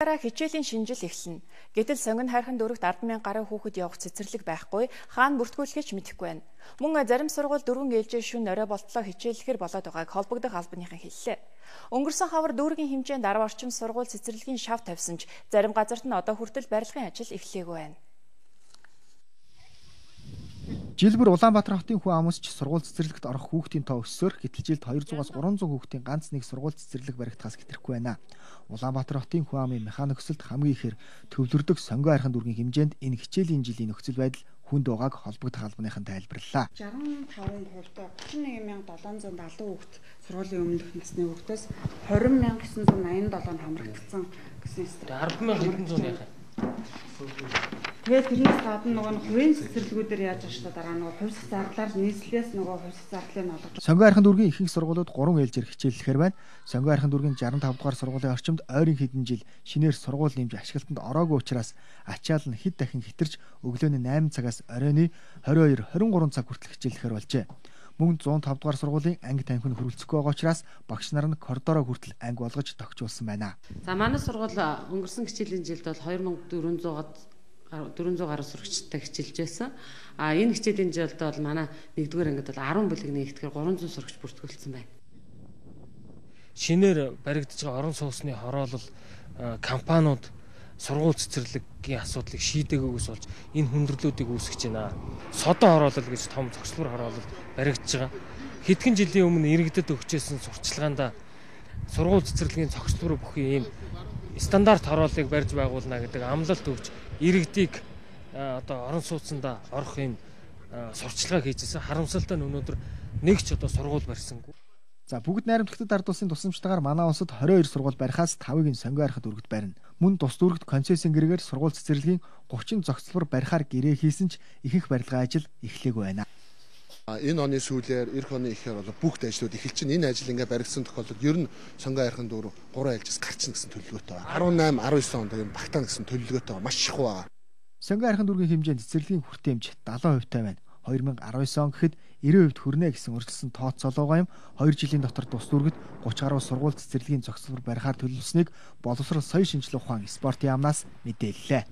Дараа хичээлийн шинжил эхэлнэ. Гэтэл сонгон хайрхан дүүрэгт 10,000 гаруй хүүхэд явах цэцэрлэг байхгүй, хаана бүртгүүлэхэж мэдэхгүй байна. Мөн зарим сургууль 4 ээлжийн шөнө орой болтлоо хичээллэхэр болоод байгааг холбогдох албаныхан хэллээ. Өнгөрсөн хавар дүүргийн хэмжээнд 10 орчим сургууль цэцэрлэгийн шав тавьсан ч зарим газарт нь одоо хүртэл барилгын ажил эхлэегүй байна. Жил бүр Улаанбаатар хотын хүн амсч сургууль цэцэрлэгт орох хүүхдийн тоо өссөөр гэтэл жилд 200-аас 300 хүүхдийн ганц нэг сургууль цэцэрлэг баригдахаас хэтрэхгүй байна. Улаанбаатар хотын хүн амын механик өсөлт хамгийн ихээр төвлөрдөг сонгон хайрхан дүүргийн хэмжээнд энэ хичээлийн жилийн нөхцөл байдал хүнд байгааг холбогдох албаныхан тайлбарллаа. 65%-д 75,770 хүүхэд сургуулийн өмнөх насны хүүхдээс 20,987 хамрагдсан гэсэн юм. 10,100 яхаа. Тэгээд тэрнээс гадна нөгөө хувийн цэцэрлэгүүдээр яаж байгаа шүү дээ дараа нөгөө хувьсах зардлаар нийслэлээс нөгөө хувьсах зардлыг нь олгож. Сонгон хайрхан дүүргийн ихэнх сургуулиуд 3 ээлжээр хичээллэхээр байна. Сонгон хайрхан дүүргийн 65 дугаар сургуулийн орчимд ойрын хэдэн жил шинээр сургууль нэмж ашиглалтанд ороогүй учраас ачаал нь хэд дахин хэтэрч өглөөний 8 цагаас оройны 22-23 цаг хүртэл хичээллэхээр болжээ. Мөн 105 дугаар сургуулийн анги танхимд хөрөлцөхгүй байгаа учраас багш нар нь коридороо хүртэл анги болгож тогтжуулсан байна. За манай сургууль өнгөрсөн хичээлийн жилд бол 2400 гаруй сурагчтай хичээлж байсан. Энэ хичээлийн жилд бол манай 1-р ангид бол 10 бүлэг нэгтгэхээр 300 сурагч бүртгүүлсэн байна. Шинээр баригдаж байгаа орон сууцны хороолол компаниуд сургууль цэцэрлэгийн асуудлыг шийдээгүйгээс болж энэ хүндрэлүүдийг үүсгэж байна. Содон хороолол гэж том зохицлбор хороолол баригдаж байгаа. Хэдхэн жилийн өмнө иргэдэд өгчээсэн сурталчилгаанд сургууль цэцэрлэгийн зохицлбор бүхий ийм стандарт хорооллыг барьж байгуулна гэдэг амлалт өгч иргэдийг одоо орон сууцнд орох ийм сурталчилгаа хийжсэн. Харамсалтай нь өнөөдөр нэг ч одоо сургууль барьсангүй. За бүгд найрамдлагчдад ард улсын тусламжтайгаар манай улсад 22 сургууль барихаас 5-ыг нь сонгон хайрхан дүүрэгт барина. Мөн тус дүүрэгт концессийн гэрээгээр сургууль цэцэрлэгийн 30 зохицлбор барихаар гэрээ хийсэн ч ихэнх барилгын ажил эхлээгүй байна. Энэ оны сүүлээр эх оны ихээр бол бүгд ажлууд эхэлж чинь энэ ажил ингээ баригдсан тохиолдолд ер нь сонгон хайрхан дүүрэг 3 айлжээс гарчна гэсэн төлөвлөгөөтэй байна. 18, 19 онд юм багтаана гэсэн төлөвлөгөөтэй маш их байгаа. Сонгон хайрхан дүүргийн хэмжээнд цэцэрлэгийн хүртээмж 70% тавина. 2019 он гэхэд 90% хүрнэ гэсэн урьдчилсан тооцоолгоо юм 2 жилийн дотор тус дүүрэгт 30 гаруй сургууль цэцэрлэгийн зохицлбор барихаар төлөвлөснийг боловсрол соёлын шинжилгээ ухаан спортын яамнаас мэдээллээ.